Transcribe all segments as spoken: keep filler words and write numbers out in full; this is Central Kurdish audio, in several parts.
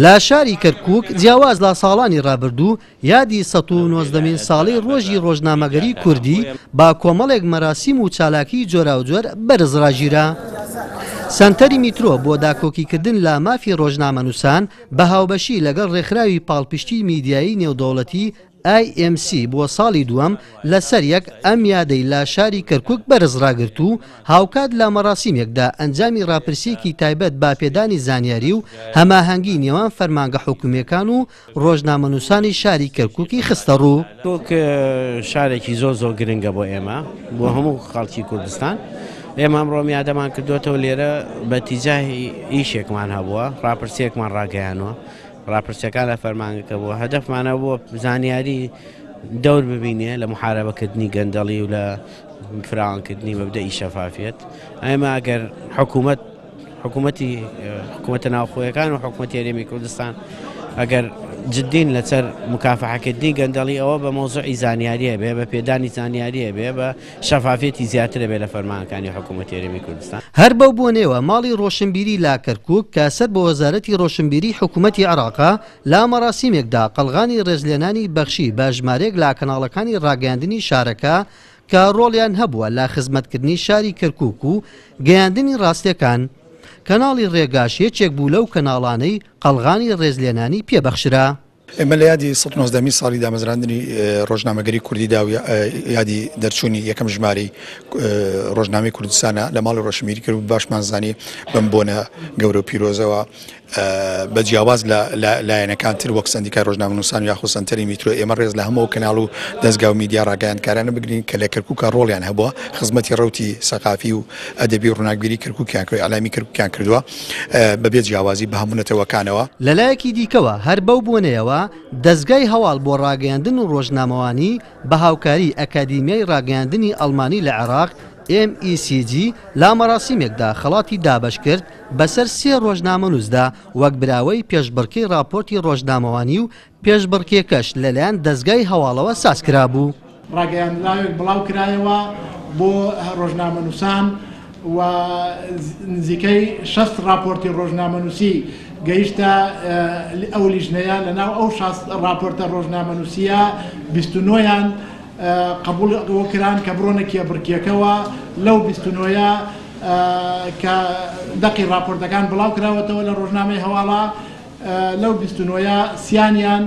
لە شاری کەرکووک جیاواز لە ساڵانی ڕابردوو یادی سەد و نۆزدەمین ساڵی ڕۆژی ڕۆژنامەگەری کوردی با کۆمەڵێک مەراسیم و چالاکی جۆراوجۆر بەرز ڕاگیرا. سەنتەری میترۆ بۆ داکۆکیکردن لە مافی ڕۆژنامەنووسان بە هاوبەشی لەگەڵ ڕێکخراوی پاڵپشتی میدیایی نێودەوڵەتی ئای ئێم سی بۆ ساڵی دووەم لەسەر یەک ئەم یادەی لە شاری کەرکووک بەرز ڕاگرت و هاوکات لە مەراسیمێکدا ئەنجامی ڕاپرسیەکی تایبەت با پێدانی زانیاری و هەماهەنگی نێوان فەرمانگە حکومیەکان و ڕۆژنامەنووسانی شاری کەرکووکی خستە ڕوو. کەرکووک شارێکی زۆر زۆر گرنگە بۆ ئێمە، بۆ هەموو خەڵکی کوردستان. ئێمە ئەمڕۆ یادەمان کردوێتەوە لێرە بە تیجاهی ئیشێکمان هەبووە، ڕاپرسیەکمان ڕاگەیانوە. ڕاپرسیەکان لە فەرمانگەکە بووە، هەدەفمانە بۆ زانیاری دەور ببینێ لە محاربەکردنی گەندەڵی و لە فراوانکردنی مەبدەئی شەفافیەت. ئێمە ئەگەر حکوومەت حکوومەتی حکوومەتە ناوخۆیەکان و حکوومەتی هەرێمی کوردستان ئەگەر جدین لەسەر مکافحەکردنی گەندەڵی ئەوە بە مەوزوعی زانیاریە بێ، بە پێدانی زانیاریە بێ، بە شەفافیەتی زیاترە بێ لە فەرمانەکانی حکوومەتی هەرێمی کوردستان. هەر بەو بۆنەوە ماڵی ڕۆشنبیری لا کەرکووک کە سەر بە وەزارەتی ڕۆشنبیری حکوومەتی عێراقا لا مەراسیمێکدا قەڵغانی ڕێزلێنانی بەخشی بە ژمارەیەک لە کەناڵەکانی ڕاگەیاندنی شارەکە کە ڕۆڵیان هەبووە لە خزمەتکردنی شاری کەرکووک و گەیاندنی ڕاستیەکان. کەناڵی ڕێگاش یەکێک بوو لەو کەناڵانەی قەڵغانی ڕێزلێنانی پێبەخشرا. ئێمە لە یادی سەد و نۆزدەمین ساڵی دامەزراندنی ڕۆژنامەگەری کوردیدا و یادی دەرچوونی یەکەم ژمارەی ڕۆژنامەی کوردستانە لە ماڵی ڕۆشنبیری کرد و باشمان زانی بەم بۆنە گەورە و پیرۆزەوە بە جیاواز لە لایەنەکانتر وەک سەندیکای ڕۆژنامەنووسان و یاخود سەنتەری میترۆ ئێمە ڕێز لە هەموو کەناڵ و دەستگا و میدیا ڕاگەیاندکارانە بگرین کە لە کەرکووکە ڕۆڵیان هەبووە، خزمەتی ڕەوتی سەقافی و ئەدەبی و ڕووناکبیری کەرکووکیان کرد، ئیعلامی کەرکووکیان کردووە بەبێ جیاوازی بە هەموو نەتەوەکانەوە. لەلایەکی دیکەوە هەر بەو بۆنەیەوە دەستگای هەواڵ بۆ ڕاگەیاندن و ڕۆژنامەوانی بە هاوکاری ئەکادیمیای ڕاگەیاندنی ئەڵمانی لە عێراق ئێم ئی سی جی لا مەراسیمێکدا خەڵاتی دابەش کرد بەسەر سێ ڕۆژنامەنووسدا وەک براوەی پێشبڕکێی ڕاپۆرتی ڕۆژنامەوانی و پێشبڕکێکەش لەلایەن دەستگای هەواڵەوە ساز کرابوو. ڕاگەیاندراوێک بڵاو کرایەوە بۆ ڕۆژنامەنووسان و نزیکەی شەست ڕاپۆرتی ڕۆژنامەنووسی گەیشتە ئەو لیژنەیە. لەناو ئەو شەست ڕاپۆرتە ڕۆژنامەنووسیە بیست و نۆیان قبول کران کە بڕۆنە کێبڕکێکەوە. لەو بیست و نۆیە کە دەقی ڕاپۆرتەکان بڵاو کراوەتەوە لە ڕۆژنامەی هەواڵە، لەو بیست و نۆیە سیانیان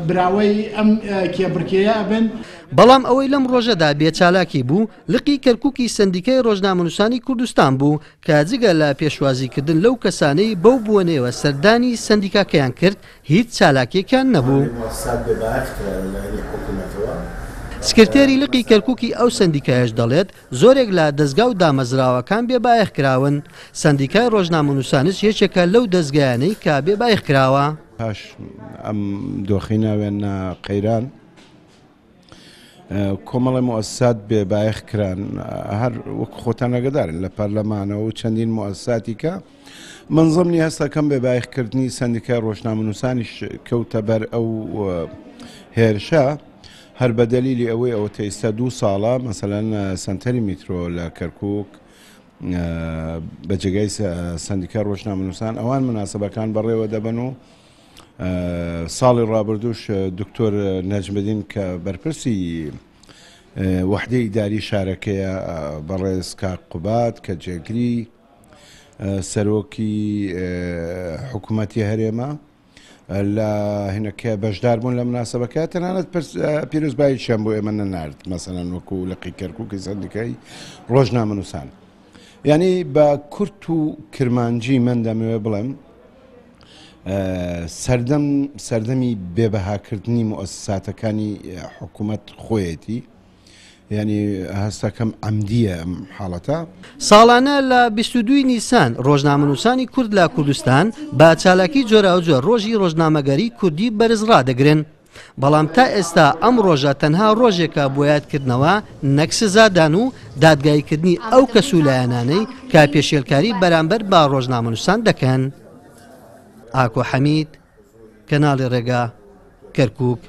براوەی ئەم کێبڕکێیە ئەبن. بەڵام ئەوەی لەم ڕۆژەدا بێچالاکی بوو لقی کەرکووکی سەندیکای ڕۆژنامەنووسانی کوردستان بوو کە جگە لە پێشوازیکردن لەو کەسانەی بەو بۆنەیەوە سەردانی سەندیکاکەیان کرد هیچ چالاکیەکیان نەبوو. سکرتێری لقی کەرکووکی ئەو سەندیکایش دەڵێت زۆرێک لە دەستگا و دامەزراوەکان بێبایەخ کراون. سەندیکای ڕۆژنامەنووسانش یەکێکە لەو دەستگایانەی کە بێبایەخ کراوە. پاش ئەم دۆخی ناوێنە قەیران کۆمەڵی موئەسسات بێبایەخ کران، هەر وەک خۆتان ئاگادارن لە پەرلەمانەوە و چەندین موئەسساتی کە من زمنی هەستەکەم بێبایەخکردنی سەندیکای ڕۆژنامەنووسانیش کەوتە بەر ئەو هێرشە، هەر بە دەلیلی ئەوەی ئەوە تا ئێستا دوو ساڵە مەسەلەن سەنتەری میترۆ لە کەرکووک بە جێگای سەندیکای ڕۆژنامەنووسان ئەوان مناسبەکان بەڕێوە دەبن و ساڵی ڕابردووش دکتۆر نەجمەدین کە بەرپرسی وەحدەی ئیداری شارەکەیە بەڕێز کاک قوباد کە جێگری سەرۆکی حکوومەتی هەرێمە لە هینەکە بەشدار بوون لە مناسبەکە، تەنانەت پیرۆزباییشیان بۆ ئێمە نەنارد مەسەلەن وەکو لقی کەرکووکی سەندیکای ڕۆژنامەنووسان. یعنی بە کورت و کرمانجی من دەمەوێت بڵێم سەردەم سەردەمی بێبەهاکردنی موئەسساتەکانی حکوومەت خۆیەتی، یعنی هەستەکەم عەمدیە ئەم حاڵەتە. ساڵانە لە بیست و دووی نیسان ڕۆژنامەنووسانی کورد لە کوردستان بە چالاکی جۆراوجۆر ڕۆژی ڕۆژنامەگەری کوردی بەرز ڕادەگرن، بەڵام تا ئێستا ئەم ڕۆژە تەنها ڕۆژێکە بۆ یادکردنەوە نەک سزادان و دادگاییکردنی ئەو کەس و لایەنانەی کە پێشێلکاری بەرامبەر بە ڕۆژنامەنووسان دەکەن. ئاکۆ حەمید، کەناڵی ڕێگا، کەرکووک.